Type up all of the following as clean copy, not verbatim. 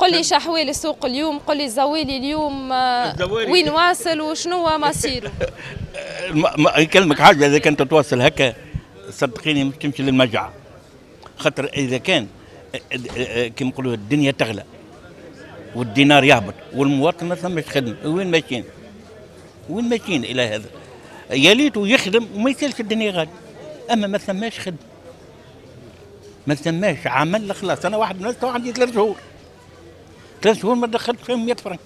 قل لي شحوال السوق اليوم، قل لي الزوالي اليوم وين واصل وشنو هو مصيره؟ نكلمك حاجة، اذا كنت تواصل هكا صدقيني مش تمشي للمجاعه، خاطر اذا كان كيما نقولوا الدنيا تغلى والدينار يهبط والمواطن ما ثماش خدمة، وين ماشيين؟ وين ماشيين الى هذا؟ يا ليته يخدم وما يسالش الدنيا غالية، اما ما ثماش خدمة، ما ثماش عمل خلاص. انا واحد من الناس عندي 3 شهور، 3 شهور ما دخلت فيهم 100 فرنك.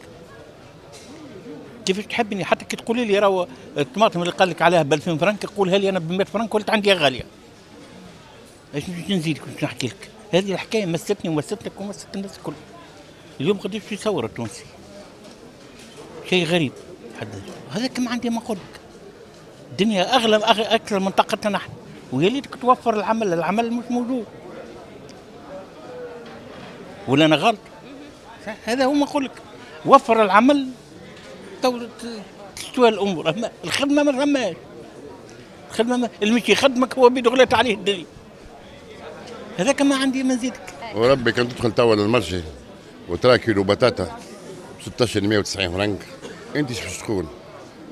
كيفاش تحبني؟ حتى كي تقولي لي راهو الطماطم اللي قال لك عليها ب 2000 فرنك قولها لي انا ب 100 فرنك ولت عندي غالية. اش باش نزيدك باش نحكي لك؟ هذه الحكاية مستني ومستك ومست الناس الكل. اليوم قداش يصور التونسي؟ شيء غريب حد هذا كما عندي ما نقول لك. الدنيا اغلى اكثر من طاقتنا نحن، ويا ليتك توفر العمل، العمل مش موجود. ولا انا غلط؟ هذا هو ما نقول لك، وفر العمل تو تستوى الامور، اما الخدمة ما ثماش. الخدمة اللي مش يخدمك هو بيده غلات عليه الدنيا. هذاك ما عندي ما نزيدك. وربي كان تدخل توا لل marché وترى كيلو بطاطا 1690 فرنك، انت ايش باش تقول؟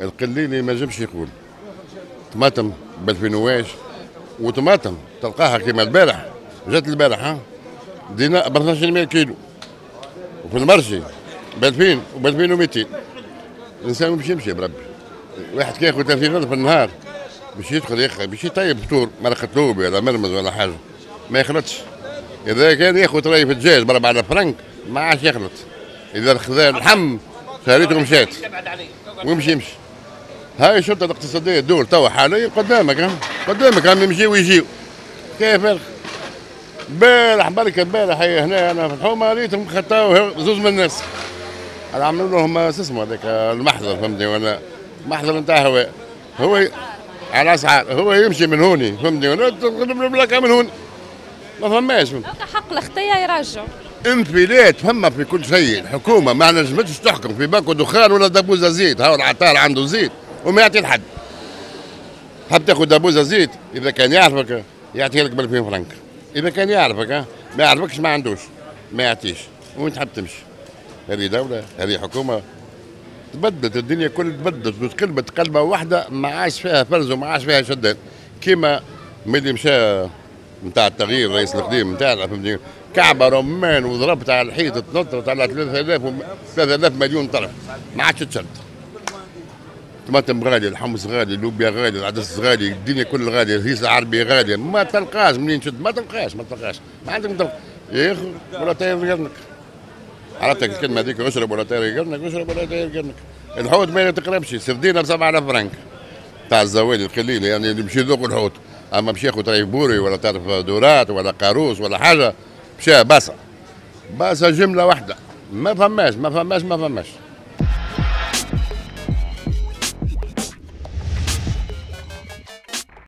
القليلي ما نجمش يقول. طماطم ب 2000 واش، وطماطم تلقاها كيما البارح، جات البارح ها دينار ب 1200 كيلو، وفي ال marché ب 2000 وب 2200. الانسان باش يمشي بربي، واحد كي ياخذ 30,000 في النهار باش يدخل ياخذ باش يطيب فطور مرقة لوبيا ولا مرمز ولا حاجة ما يخلطش. اذا كان ياخذ طريف الدجاج ب 4000 فرنك ما عادش يخلط. اذا خذا اللحم شهريته مشات ويمشي يمشي. هاي الشرطة الاقتصادية الدول توا حاليا قدامك، قدامك هم يمشيو ويجيو. كيف البارح بركة البارح هنا انا في الحومه ريتهم خطاو زوز من الناس، عملوا لهم اسمه هذاك المحضر، فهمتني ولا محضر نتاع هواء، هو على اسعار، هو يمشي من هوني فهمتني ولا تغلب البلاكه من هوني، ما فماش حق الخطية يرجعوا. انفلات فما في كل شيء، الحكومة ما نجمتش تحكم في باكو دخان ولا دبوزه زيت، هاو العطار عنده زيت وما يعطي لحد. حاب تاخذ دبوزه زيت اذا كان يعرفك يعطيها لك ب 2000 فرنك، اذا كان يعرفك، ما يعرفكش ما عندوش ما يعطيش. وين تحب تمشي؟ هذه دولة، هذه حكومة تبدلت الدنيا كل تبدلت وتقلبت قلبة واحدة ما عادش فيها فرز وما عادش فيها شدان. كيما ملي مشى نتاع التغيير الرئيس القديم نتاعنا فهمتني، كعبة رمان وضربت على الحيط تنطرت على 3000 مليون طرف ما عادش تشد. طماطم غالية، الحمص غالي، اللوبيا غالية، العدس غالي، الدنيا كل غالية، الهيس العربي غالية، ما تلقاش منين تشد، ما تلقاش ما تلقاش، ما عندك ما تلقى. يا اخي ولا طير قرنك. عرفتك الكلمة هذيك، اشرب ولا طير قرنك، اشرب ولا طير قرنك. الحوت ما تقربش، سردينه ب 7000 فرنك تاع الزوالي القليل، يعني اللي مشي يذوق الحوت، اما مشي ياخذ طريف بوري ولا طرف دورات ولا قاروس ولا حاجة، مشى باسه باسه جملة واحدة، ما فماش ما فماش ما فماش.